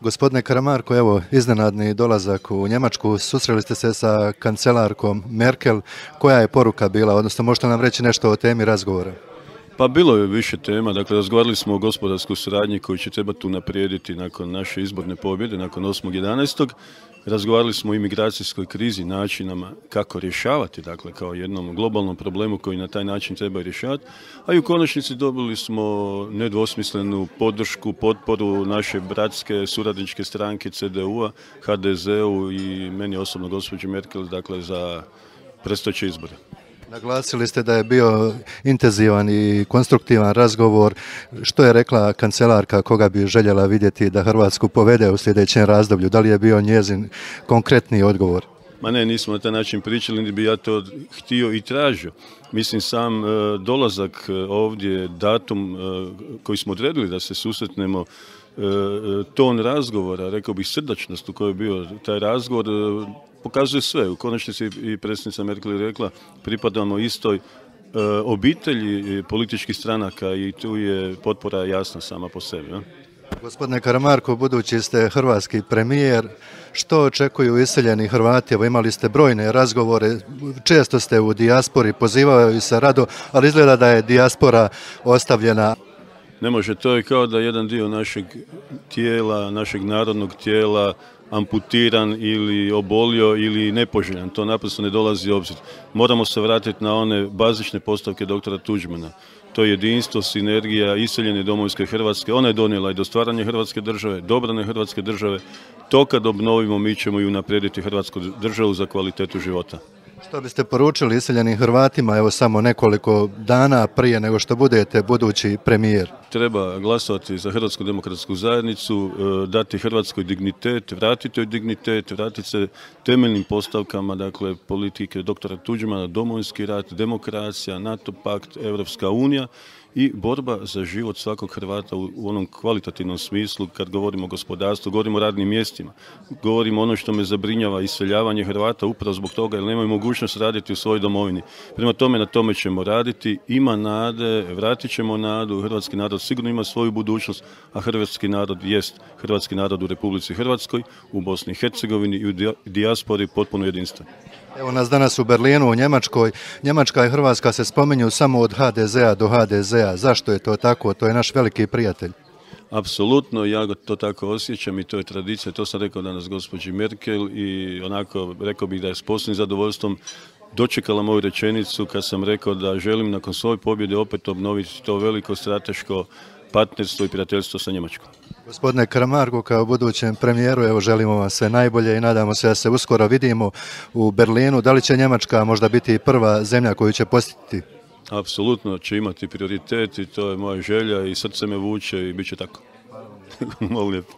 Gospodine Karamarko, evo iznenadni dolazak u Njemačku, susreli ste se sa kancelarkom Merkel. Koja je poruka bila, odnosno možete nam reći nešto o temi razgovora? Pa bilo je više tema, dakle razgovarali smo o gospodarskoj suradnji koju će trebati unaprijediti nakon naše izborne pobjede, nakon 8.11. Razgovarali smo o imigracijskoj krizi, načinama kako rješavati, dakle kao jednom globalnom problemu koji na taj način treba rješavati, a i u konačnici dobili smo nedvosmislenu podršku, potporu naše bratske suradničke stranke CDU-a, HDZ-u i meni osobno gospođi Merkel, dakle za predstojeće izbore. Naglasili ste da je bio intenzivan i konstruktivan razgovor. Što je rekla kancelarka, koga bi željela vidjeti da Hrvatsku povede u sljedećem razdoblju? Da li je bio njezin konkretni odgovor? Ma ne, nismo na taj način pričali, niti bi ja to htio i tražio. Mislim, sam dolazak ovdje, datum koji smo odredili da se susretnemo, ton razgovora, rekao bih srdačnost u kojoj je bio taj razgovor, pokazuje sve. U konačnici i predsjednica Merkel je rekla, pripadamo istoj obitelji političkih stranaka i tu je potpora jasna sama po sebi. Ja? Gospodine Karamarko, budući ste hrvatski premijer, što očekuju iseljeni Hrvati? Evo, imali ste brojne razgovore, često ste u dijaspori, pozivaju se rado, ali izgleda da je dijaspora ostavljena. Ne može, to je kao da jedan dio našeg tijela, našeg narodnog tijela amputiran ili obolio ili nepoželjan. To naprosto ne dolazi u obzir. Moramo se vratiti na one bazične postavke doktora Tuđmana. To je jedinstvo, sinergija, iseljene domovinske Hrvatske. Ona je donijela i do stvaranja Hrvatske države, do obrane Hrvatske države. To kad obnovimo, mi ćemo i unaprijediti Hrvatsku državu za kvalitetu života. Što biste poručili iseljenim Hrvatima, evo samo nekoliko dana prije nego što budete budući premijer? Treba glasovati za Hrvatsku demokratsku zajednicu, dati Hrvatskoj dignitet, vratiti joj dignitet, vratiti se temeljnim postavkama, dakle politike doktora Tuđmana, domovinski rat, demokracija, NATO pakt, Europska unija i borba za život svakog Hrvata u onom kvalitativnom smislu. Kad govorimo o gospodarstvu, govorimo o radnim mjestima, govorimo ono što me zabrinjava, iseljavanje Hrvata upravo zbog toga jer nemaju mogućnost raditi u svojoj domovini. Prema tome, na tome ćemo raditi, ima nade, vratit ćemo nadu, hrvatski narod sigurno ima svoju budućnost, a hrvatski narod jest hrvatski narod u Republici Hrvatskoj, u Bosni i Hercegovini i u dijaspori potpuno jedinstven. Evo nas danas u Berlinu, u Njemačkoj. Njemačka i Hrvatska se spominju samo od HDZ-a do HDZ-a. Zašto je to tako? To je naš veliki prijatelj. Apsolutno, ja to tako osjećam i to je tradicija. To sam rekao danas gospođi Merkel i onako rekao bih da je s posebnim zadovoljstvom dočekala moju rečenicu kad sam rekao da želim nakon svoje pobjede opet obnoviti to veliko strateško partnerstvo i prijateljstvo sa Njemačkom. Gospodine Karamarko, kao budućem premijeru, evo želimo vam sve najbolje i nadamo se da se uskoro vidimo u Berlinu. Da li će Njemačka možda biti prva zemlja koju će posjetiti? Apsolutno će imati prioritet i to je moja želja i srce me vuče i bit će tako. Hvala lijepo.